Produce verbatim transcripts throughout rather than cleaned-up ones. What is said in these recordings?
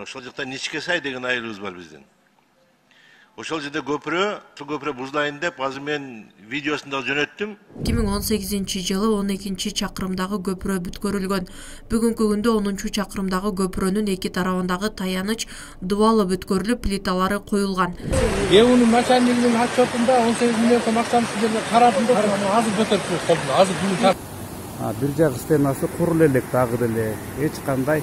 ошол жакта Ничке Сай деген айылыбыз бар биздин. Ошол жерде көпүрө, су көпүрө бузулайын деп азыр мен видеосун да жөнөттүм. эки миң он сегизинчи жылы он экинчи чакырымдагы көпүрө бүткөрүлгөн. Бүгүнкү күндө онунчу чакырымдагы көпүрөнүн эки тарабындагы таяныч дубалы бүткөрүлүп, плиталары коюлган. Эунун начальнигинин отчетунда он сегиз миллион сом акчаны сиздерге карадым, азыр көтөрүп коюптур. Азыр бүгүн бир жак стенасы курулуп элек дагы деле эч кандай.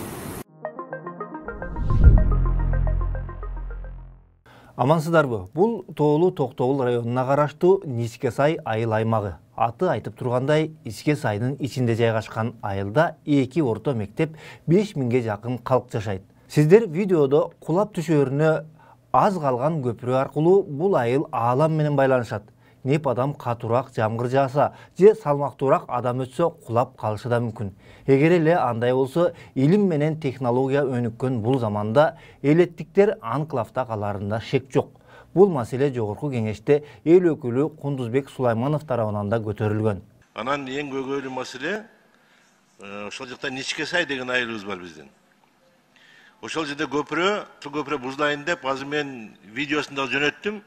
Амансыздарбы? Бул Тоолуу Токтогул районуна караштуу Ничке Сай айыл аймагы. Аты айтып тургандай, Ичке Сайдын ичинде жайгашкан айылда эки орто мектеп, беш миңге жакын калк жашайт. Сиздер видеодо кулап түшөрүнө аз калган көпүрө аркылуу бул айыл аалам менен байланышат. Неп адам катуураак жамгыр жааса же салмактуураак адам өтсө кулап калышы да мүмкүн. Эгер эле андай болсо, илим менен технология өнүккөн бул заманда элеттиктер анклавда каларында шек жок. Бул маселе жогорку кеңеште эл өкүлү Кундузбек Сулайманов тарабынан да көтөрүлгөн. Анан эң көйгөйлүү маселе ошол жакта Ничке Сай деген айылыбыз бар биздин. Ошол жерде көпүрө, су көпүрө бузулайын деп азыр мен видеосун да жөнөттүм.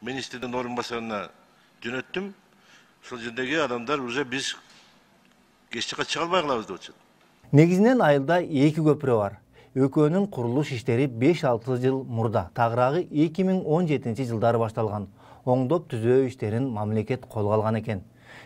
Министрдин орун басарына жөнөттүм. Ошол жердеги адамдар уже биз кеч жакка чыга албай калабыз деп атышат. Негизинен айылда эки көпүрө бар. Экөөнүн курулуш иштери беш алты жыл мурда, тагыраагы эки миң он жетинчи жылдары башталган. Оңдоп түзөө иштерин мамлекет колго алган экен.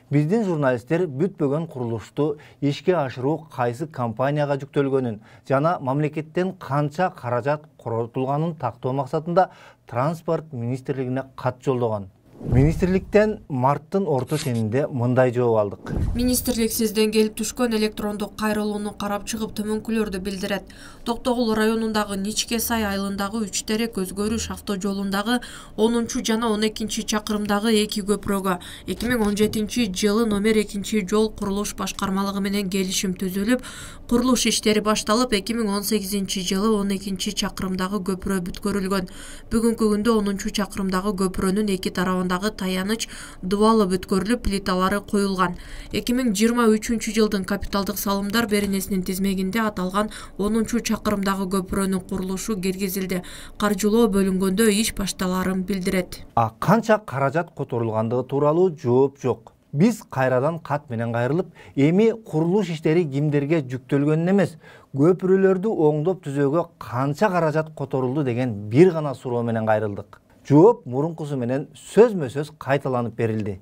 Биздин журналисттер бүтпөгөн курулушту ишке ашыруу кайсы компанияга жүктөлгөнүн жана мамлекеттен канча каражат коротулганын тактоо максатында Транспорт министрлигине кат жолдогон. Министрликтен марттын орто ченинде мындай жооп алдык. Министрлик сизден келип түшкөн электрондук кайрылууну карап чыгып төмөнкүлөрдү билдирет. Токтогул районундагы Ничке Сай айылындагы үч терек өзгөрүш автожолундагы онунчу жана он экинчи чакырымдагы эки көпүрөгө эки миң он жетинчи жылы номер экинчи жол курулуш башкармалыгы менен келишим түзүлүп, курулуш иштери башталып, эки миң он сегизинчи жылы он экинчи чакырымдагы көпүрө бүткөрүлгөн. Бүгүнкү күндө онунчу чакырымдагы көпүрөнүн эки тарабындагы таяныч дубалы бүткөрүлүп, плиталары коюлган. эки миң жыйырма үчүнчү жылдын капиталдык салымдар беренесинин тизмегинде аталган онунчу чакырымдагы көпүрөнүн курулушу киргизилди. Каржылоо бөлүнгөндө иш башталарын билдирет. А канча каражат которулгандыгы тууралуу жооп жок. Биз кайрадан кат менен кайрылып, эми курулуш иштери кимдерге жүктөлгөнүн эмес, көпүрөлөрдү оңдоп түзөөгө канча каражат которулду деген бир гана суроо менен кайрылдык. Жооп мурункусу менен сөзмө сөз кайталанып берилди.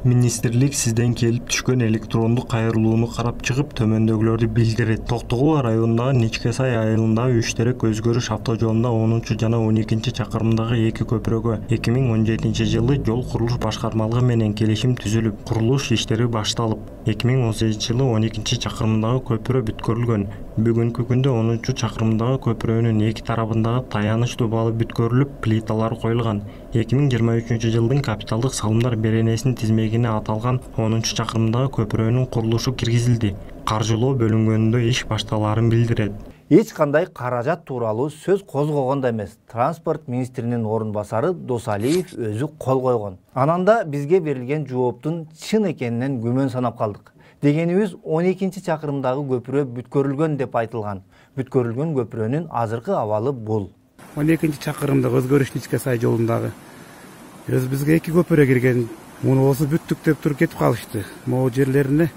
Министрлик сизден келип түшкөн электрондук кайрылууну карап чыгып төмөндөгүлөрдү билдирет. Токтогул районундагы Ничке Сай айылындагы үч терек өзгөрүш автожолунда онунчу жана он экинчи чакырымдагы эки көпүрөгө эки миң он жетинчи жылы жол курулуш башкармалыгы менен келишим түзүлүп, курулуш иштери башталып, эки миң он сегизинчи жылы он экинчи чакырымдагы көпүрө бүткөрүлгөн. Бүгүнкү күндө онунчу чакырымдагы көпүрөнүн эки тарабындагы таяныч дубалы бүткөрүлүп, плиталар коюлган. эки миң жыйырма үчүнчү жылдын капиталдык салымдар беренесинин тизмегине аталган онунчу чакырымдагы көпүрөнүн курулушу киргизилди. Каржылоо бөлүнгөндө иш башталарын билдирет. Эч кандай каражат тууралуу сөз козгогон да эмес. Транспорт министринин орун басары Досалиев өзү кол койгон. Ананда бизге берилген жооптун чын экенинен күмөн санап калдык. Дегенибиз он экинчи чакырымдагы көпүрө бүткөрүлгөн деп айтылган. Бүткөрүлгөн көпүрөнүн азыркы абалы бул. он экинчи чакырымдагы өзгөрүш Ничке Сай жолундагы өз бизге эки көпүрө кирген. Муну болсо бүттүк деп туруп кетип калышты. Могу жерлерине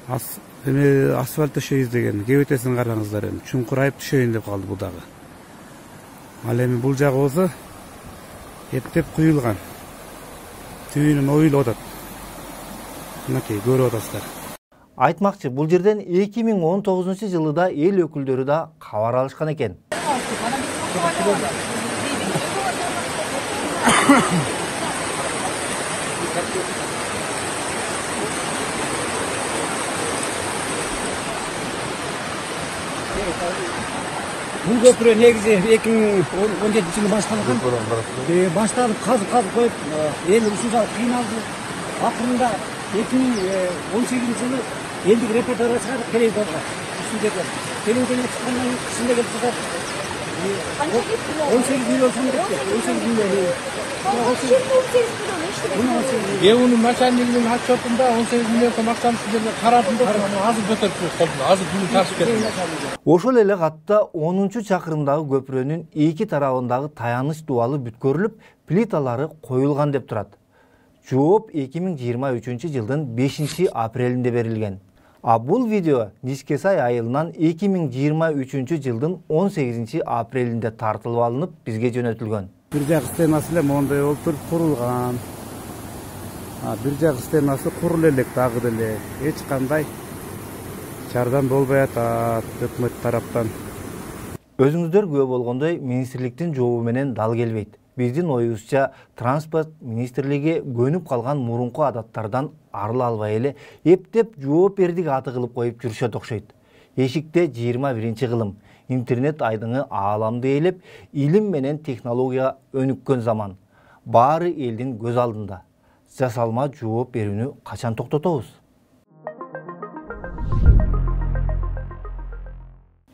ас эме асфальт төшөйбүз деген. Кебетесин караңыздар эми. Чуңкурайып түшөйүн деп калды бул дагы. Ал эми бул жагы болсо эптеп куюлган. Түйүнүн оюлуп атат. Мынакей көрүп атасыздар. Айтмакчы, бул жерден эки миң он тогузунчу жылы да эл өкүлдөрү да кабар алышкан экен. Бул көпүрө негизи эки миң он жетинчи жылы башталган. Башталып казып казып коюп, эл ушунча кыйналды. Акырында эки миң он сегизинчи жылы элдик репортажга чыгардык телевизорго. Ушул жерде телевизорго чыккандан кийин кышында келип жатат. он сегиз миллион сом депти. он сегиз миллион. Эунун начальнигинин отчетунда он сегиз миллион сом акчаны сиздерге карадым деп азыр көтөрүп жүрөт колдон. Азыр бүгүн тартып бердим. Ошол эле катта онунчу чакырымдагы көпүрөнүн эки тарабындагы таяныч дубалы бүткөрүлүп, плиталары коюлган деп турат. Жооп эки миң жыйырма үчүнчү жылдын бешинчи апрелинде берилген. А бул видео Ничкесай айылынан эки миң жыйырма үчүнчү жылдын он сегизинчи апрелинде тартылып алынып, бизге жөнөтүлгөн. Бир жак стенасы эле моундай болуп туруп курулган. Бир жак стенасы курул элек дагы деле. Эч кандай жардам болбой атат өкмөт тараптан. Өзүңүздөр күбө болгондой, министрликтин жообу менен дал келбейт. Биздин оюбузча, транспорт министрлиги көнүп калган мурунку адаттардан арыла албай эле эптеп жооп бердик аты кылып коюп жүрүшөт окшойт. Эшикте жыйырма биринчи кылым, интернет айдыңы ааламды ээлеп, илим менен технология өнүккөн заман. Баары элдин көз алдында. Жасалма жооп берүүнү качан токтотобуз?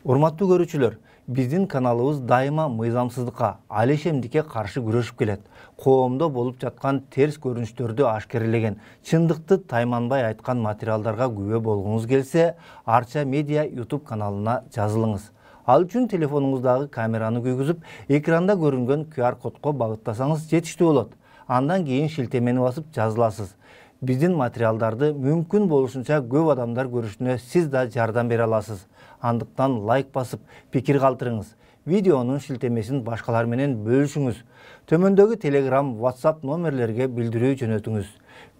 Урматтуу көрүүчүлөр, биздин каналыбыз дайыма мыйзамсыздыкка, алешемдикке каршы күрөшүп келет. Коомдо болуп жаткан терс көрүнүштөрдү ашкерелеген, чындыкты тайманбай айткан материалдарга күбө болгуңуз келсе, Арча Медиа YouTube каналына жазылыңыз. Ал үчүн телефонуңуздагы камераны күйгүзүп, экранда көрүнгөн ку ар кодко багыттасаңыз жетиштүү болот. Андан кийин шилтемени басып жазыласыз. Биздин материалдарды мүмкүн болушунча көп адамдар көрүшүнө сиз да жардам бере аласыз. Андыктан лайк басып, пикир калтырыңыз. Видеонун шилтемесин башкалар менен бөлүшүңүз. Төмөндөгү Telegram, WhatsApp номерлерге билдирүү жөнөтүңүз.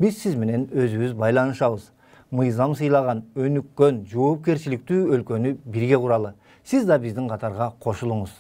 Биз сиз менен өзүбүз байланышабыз. Мыйзам сыйлаган, өнүккөн, жоопкерчиликтүү өлкөнү бирге куралы. Сиз да биздин катарга кошулуңуз.